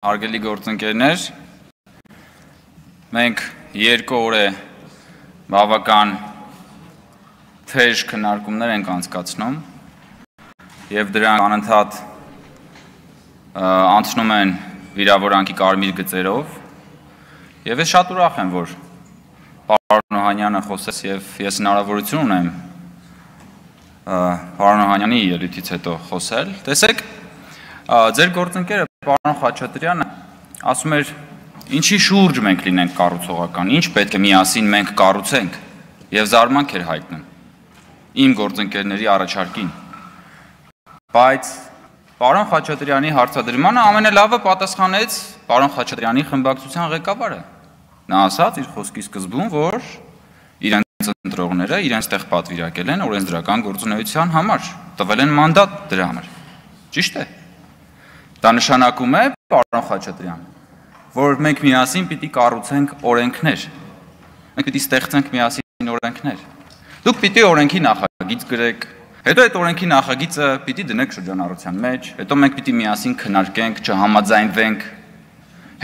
Հարգելի գործընկերներ, մենք 2 օր է բավական թեժ քննարկումներ ենք անցկացնում եւ դրանք անընդհատ անցնում են վիրավորանքի կարմիր գծերով եւ ես շատ ուրախ եմ, որ պարոն Օհանյանը խոսեց եւ ես հնարավորություն ունեմ պարոն Օհանյանի ելույթից հետո խոսել։ Տեսեք, ձեր գործընկերը պարոն Խաչատրյանը ասում էր, ինչի շուրջ մենք լինենք կառուցողական, ինչ պետք է միասին մենք կառուցենք եւ զարմանք էր հայտնում իմ գործընկերների առաջարկին։ Բայց պարոն Խաչատրյանի հարցադրմանը ամենալավը պատասխանեց պարոն Խաչատրյանի խմբակցության ղեկավարը։ Նա ասաց իր խոսքի սկզբում, որ իրենց ընտրողները իրենց տեղ պատվիրակել են օրենսդրական գործունեության համար, տվել են մանդատ դրա համար։ Ճիշտ է։ Դա նշանակում է, պարոն Խաչատրյան, որ մենք միասին պիտի կառուցենք օրենքներ։ Մենք պիտի ստեղծենք միասին օրենքներ։ Դուք պիտի օրենքի նախագիծ գրեք, հետո այդ օրենքի նախագիծը պիտի դնեք շրջանառության մեջ, հետո մենք պիտի միասին քննարկենք, չհամաձայնվենք,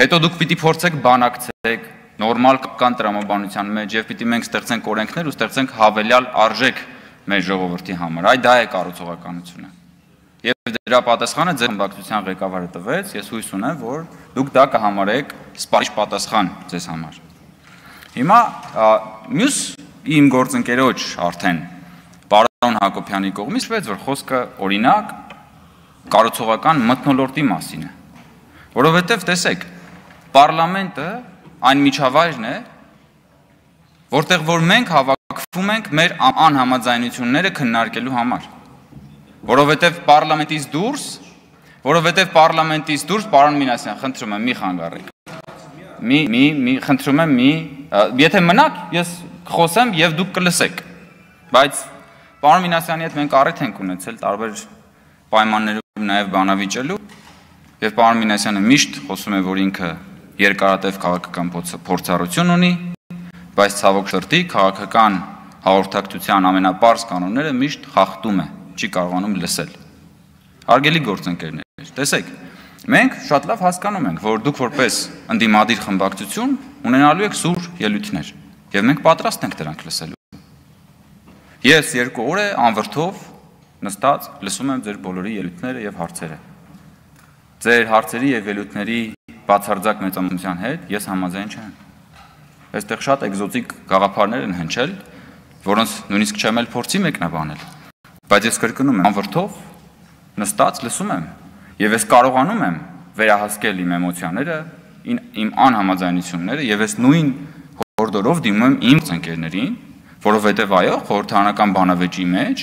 հետո դուք պիտի փորձեք բանակցեք նորմալ կապկան տրամաբանության մեջ եւ պիտի մենք ստեղծենք օրենքներ ու ստեղծենք հավելյալ արժեք մեր ժողովրդի համար։ Այ դա է կառուցողականությունը։ Եվ դրա պատասխանը ձեր խմբակցության ղեկավարը տվեց, ես հույս ունեմ, որ դուք դա կհամարեք սպառիչ պատասխան ձեզ համար։ Հիմա մյուս իմ գործընկերոջ արդեն պարոն Հակոբյանի կողմից վեց, որ խոսքը օրինակ կառուցողական մթնոլորտի մասին է, որովհետև տեսեք, պարլամենտը այն միջավայրն է, որտեղ որ մենք հավաքվում ենք մեր անհամաձայնությունները քննարկելու համար։ Որովհետև պարլամենտից դուրս, պարոն Մինասյան, խնդրում եմ, մի խանգարեք։ Խնդրում եմ, եթե մնաք, ես խոսեմ եւ դուք կլսեք։ Բայց պարոն Մինասյանի հետ մենք առիթ ենք ունեցել տարբեր պայմաններում նաեւ բանավիճելու, եւ պարոն Մինասյանը միշտ խոսում է, որ ինքը երկարատև քաղաքական փորձառություն ունի, բայց ցավոք սրտի քաղաքական հաղորդակցության ամենապարզ կանոնները միշտ խախտում է, չի կարողանում լսել։ Հարգելի գործընկերներ, տեսեք, մենք շատ լավ հասկանում ենք, որ դուք որպես ընդդիմադիր խմբակցություն ունենալու եք սուր ելույթներ, եւ մենք պատրաստ ենք դրանք լսելու։ Ես 2 օր է անվրդով նստած լսում եմ ձեր բոլորի ելույթները եւ հարցերը։ Ձեր հարցերի եւ ելույթների բացարձակ մեծամասնության հետ ես համաձայն չեմ։ Այստեղ շատ էկզոտիկ գաղափարներ են հնչել, որոնց նույնիսկ չեմ էլ փորձի մեկնաբանել։ Բայց ես կրկնում եմ, անվրդով նստած լսում եմ եւ ես կարողանում եմ վերահասկել իմ էմոցիաները, իմ անհամաձայնությունները եւ ես նույն հորդորով դիմում եմ իմ ընկերներին, որովհետեւ այո, խորհրդարանական բանավեճի մեջ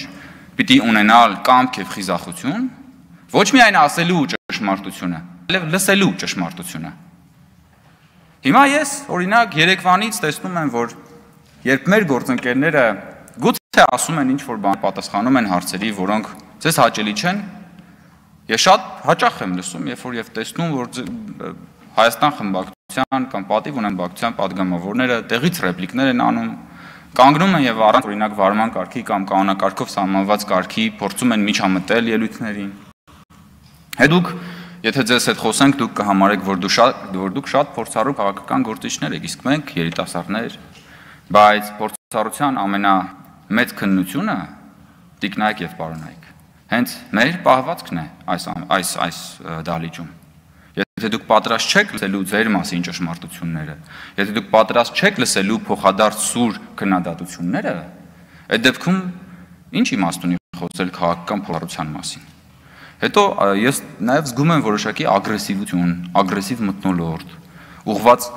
պիտի ունենալ կամք եւ խիզախություն, ոչ միայն ասելու ճշմարտությունը, այլև լսելու ճշմարտությունը։ Հիմա ես օրինակ Երևանից տեսնում եմ, որ երբ մեր գործընկերները գուցե ասում են ինչ-որ բան, պատասխանում են հարցերի, որոնք ձեզ հաճելի չեն, ես շատ հաճախ եմ լսում, երբ որ եւ տեսնում, որ Հայաստան խմբակցության կամ պատիվ ունեն բակցության падգամավորները տեղից ռեպլիկներ են անում, կանգնում են եւ առանց օրինակ վարման կարգի կամ կանոնակարգով սահմանված կարգի փորձում են միջամտել ելույթներին։ Հետո եթե ձեզ հետ խոսենք, դուք կհամարեք, որ դուք շատ փորձառու քաղաքական գործիչներ եք, իսկ մենք երիտասարդներ, բայց փորձառության ամենամեծ քննությունը տիկնայք եւ պարոնայք։ Հենց մեր պահվածքն է այս դալիճում։ Եթե դուք պատրաստ չեք լսելու ձեր մասին ճշմարտությունները, եթե դուք պատրաստ չեք լսելու փոխադարձ սուր քննադատությունները, այդ դեպքում ինչ իմաստ ունի խոսել քաղաքական փորձառության մասին։ Հետո ես նաև զգում եմ որոշակի ագրեսիվություն, ագրեսիվ մթնոլորտ, ուղղված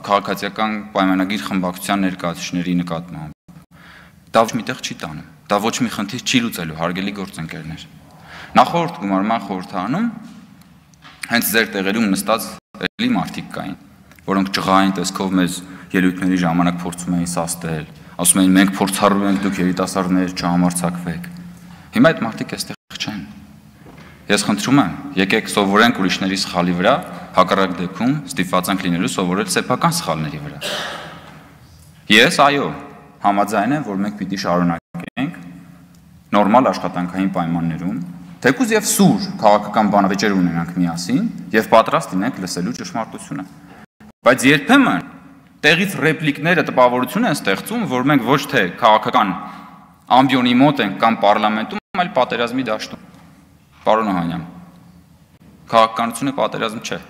քաղաքացիական պայմանագիր խմբակցության ներկայացուցիչների նկատմամբ։ Դա ոչ միտեղ չի տանում, դա ոչ մի խնդիր չի լուծելու, հարգելի գործընկերներ։ Նախորդ գումարման խորհրդարանում հենց ձեր տեղերում նստած էլի մարդիկ կային, որոնք ճղային տեսքով մեզ ելույթների ժամանակ փորձում էին սաստել, ասում էին մենք փորձառու ենք, դուք երիտասարդներ չհամարձակվեք։ Հիմա այդ մարդիկ այստեղ չեն։ Ես խնդրում եմ, եկեք սովորենք ուրիշների սխալի վրա, հակառակ դեպքում ստիպված ենք լինելու սովորել սեփական սխալների վրա։ Ես այո, համաձայն եմ, որ մենք պիտի շարունակենք նորմալ աշխատանքային պայմաններում Թեկուզ եւ սուր քաղաքական բանավեճեր ունենանք միասին եւ պատրաստ լինենք լսելու ճշմարտությունը։ Բայց երբեմն տեղից ռեպլիկները տպավորություն են ստեղծում, որ մենք ոչ թե քաղաքական ամբիոնի մոտ ենք կամ պարլամենտում, այլ պատերազմի դաշտում։ Պարոն Օհանյան, քաղաքականությունը պատերազմ չէ։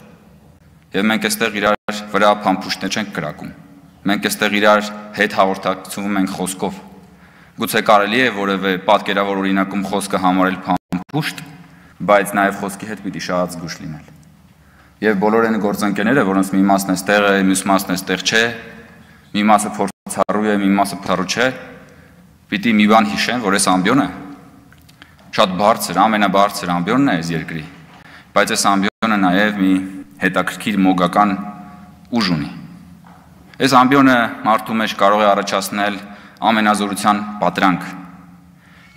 Եվ մենք այստեղ իրար վրա փամփուշտներ չենք կրակում։ Մենք այստեղ իրար հետ հաղորդակցվում ենք խոսքով։ Գուցե կարելի է որևէ պատկերավոր օրինակում խոսքը համարել փամփուշտ, բայց նաև խոսքի հետ պիտի շահած զգուշ լինել։ Եվ բոլոր այն գործընկերները, որոնց մի մասն այստեղ է, մյուս մասն այստեղ չէ, մի մասը փորձառու է, մի մասը փորձառու չէ, պիտի մի բան հիշեն, որ այս ամբիոնը շատ բարձր, ամենաբարձր ամբիոնն է այս երկրի, բայց այս ամբիոնը նաև մի հետաքրքիր մոգական ուժ ունի։ Այս ամբիոնը մարդու մեջ կարող է առաջացնել ամենազորության պատրանք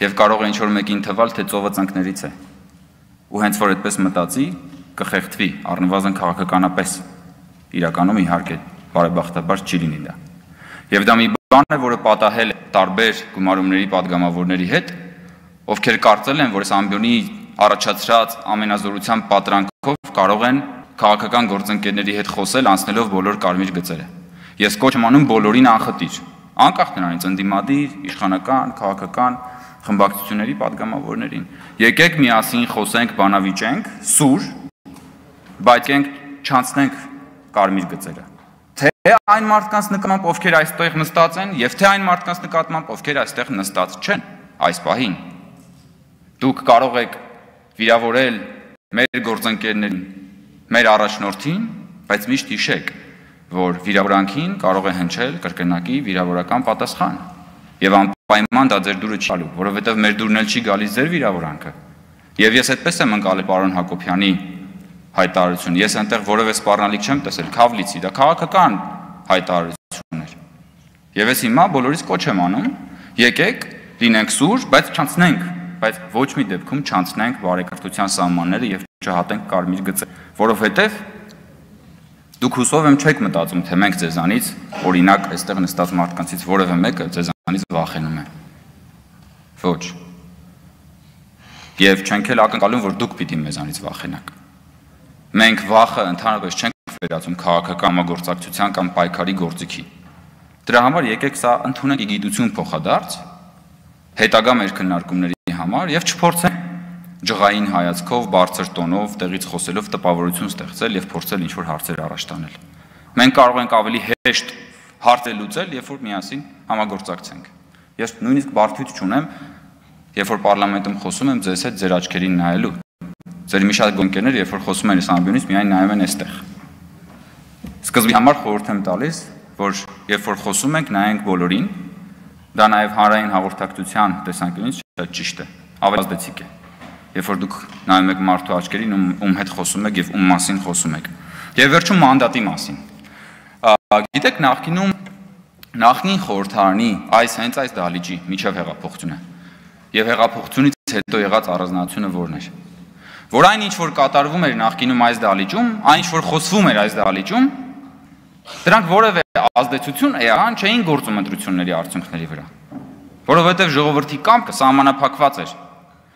եւ կարող է ինչ-որ մեկին թվալ, թե ծովը ծնկներից է։ Ու հենց որ այդպես մտածի, կխեղդվի, առնվազն քաղաքականապես։ Իրականում իհարկե բարեբախտաբար չի լինի դա։ Եվ դա մի բան է, որը պատահել է տարբեր գումարումների падգամավորների հետ, ովքեր կարծել են, որ այս ամբիոնի առաջացրած ամենազորության պատրանքով կարող են քաղաքական գործընկերների հետ խոսել, անցնելով բոլոր կարմիր գծերը։ Ես կոչ եմ անում բոլորին անխտիր, անկախ նրանից ընդդիմադիր, իշխանական, քաղաքական խմբակցությունների падգամավորներին։ Եկեք միասին խոսենք, բանավիճենք, սուր, բայց ենք չանցնենք կարմիր գծերը։ Թե այն մարդկանց նկատմամբ, ովքեր այստեղ նստած են, եւ թե այն մարդկանց նկատմամբ, ովքեր այստեղ նստած չեն, այս պահին։ Դուք կարող եք վիրավորել մեր գործընկերներին, մեր առաջնորդին, բայց միշտ հիշեք, որ վիրավորանքին կարող է հնչել կրկնակի վիրավորական պատասխան։ Եվ անպայման դա ձեր դուրը չի գալու, որովհետև մեր դուրն էլ չի գալիս ձեր վիրավորանքը։ Եվ ես այդպես եմ ընկալել պարոն Հակոբյանի հայտարարություն։ Ես այնտեղ որևէ սպառնալիք չեմ տեսել, քավլիցի, դա քաղաքական հայտարարություն էր։ Եվ ես հիմա բոլորիս կոչ եմ անում, եկեք, լինենք սուր, բայց չանցնենք, բայց ոչ մի դեպքում չանցնենք բարեկրթության սահմանները եւ չհատենք կարմիր գծը, որովհետև դուք հուսով եմ չեք մտածում, թե մենք ձեզանից, օրինակ, այստեղ նստած մարդկանցից որևէ մեկը ձեզանից վախենում է։ Ոչ։ Եվ չենք էլ ակնկալում, որ դուք պիտի մեզանից վախենաք։ Մենք վախը ընդհանրապես չենք վերածում քաղաքական համագործակցության կամ պայքարի գործիքի։ Դրա համար եկեք սա ընդունենք գիտություն փոխադարձ, հետագա մեր քննարկումների համար եւ չփորձենք ջղային հայացքով, բարձր տոնով, տեղից խոսելով տպավորություն ստեղծել եւ փորձել ինչ-որ հարցեր առաջ տանել։ Մենք կարող ենք ավելի հեշտ հարցեր լուծել, երբ որ միասին համագործակցենք։ Ես նույնիսկ բարդություն չունեմ, երբ որ պարլամենտում խոսում եմ ձեզ հետ ձեր աչքերին նայելու։ Ձեր մի շատ գործընկերներ, երբ որ խոսում են այս ամբիոնից, միայն նայում են այստեղ։ Սկզբի համար խորհուրդ եմ տալիս, որ երբ որ խոսում ենք, նայենք բոլորին, դա նաեւ հանրային հաղորդակցության տեսանկյունից շատ ճիշտ է, ավելի ազդեցիկ է։ Երբ որ դուք նայում եք մարդու աչքերին, ում հետ խոսում եք եւ ում մասին խոսում եք։ Եվ վերջում մանդատի մասին։ Գիտեք, նախնին խորհրդարանի հենց այս դահլիճի միջև հեղափոխությունը եւ հեղափոխությունից հետո եղած առանձնահատկությունը որն էր։ Որ այն ինչ որ կատարվում էր նախկինում այս դահլիճում, այն ինչ որ խոսվում էր այս դահլիճում, դրանք որևէ ազդեցություն էական չէին գործում ընտրությունների արդյունքների վրա։ Որովհետեւ ժողովրդի կամքը սահմանափակված էր։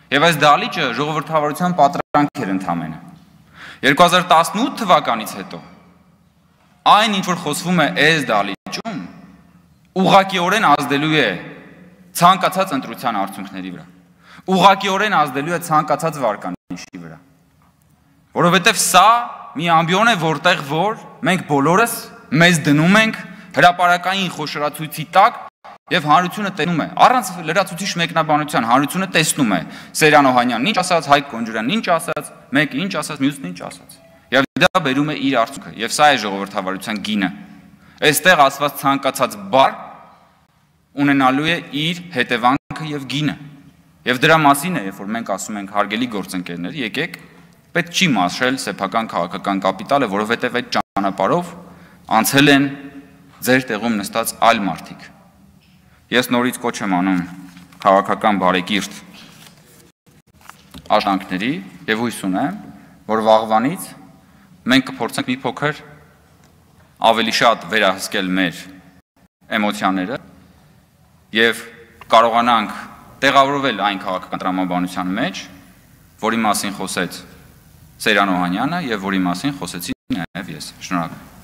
Եվ այս դահլիճը ժողովրդավարության պատրանք էր ընդամենը։ 2018 թվականից հետո այն ինչ որ խոսվում է այս դահլիճում ուղղակիորեն ազդելու է ցանկացած ընտրության արդյունքների վրա։ Ուղղակիորեն ազդելու է ցանկացած վարկանիշի վրա։ Որովհետև սա մի ամբիոն է, որտեղ որ մենք բոլորս մեզ դնում ենք հրապարակային խոշորացույցի տակ եւ հանրությունը տեսնում է, առանց լրացուցիչ մեկնաբանության հանրությունը տեսնում է Սերյան Օհանյանն ինչ ասաց, Հայկ Կոնջուրյանն ինչ ասաց, մեկը ինչ ասաց, մյուսն ինչ ասաց։ Եվ դա բերում է իր արդյունքը, եւ սա է ժողովրդավարության գինը։ Այստեղ ասված ցանկացած բառ ունենալու է իր հետևանքը եւ գինը։ Եվ դրա մասին է, երբ որ մենք ասում ենք հարգելի գործընկերներ, եկեք, պետք չի մաշել սեփական քաղաքական կապիտալը, որովհետեւ այդ ճանապարհով անցել են ձեր տեղում նստած այլ մարդիկ։ Ես նորից կոչ եմ անում քաղաքական բարեկիրթ աշխատանքների եւ հույս ունեմ, որ վաղվանից մենք կփորձենք մի փոքր ավելի շատ վերահսկել մեր էմոցիաները եւ կարողանանք տեղավորվել այն քաղաքական տրամաբանության մեջ, որի մասին խոսեց Սերյան Օհանյանը եւ որի մասին խոսեցի նաեւ ես։ Շնորհակալ եմ։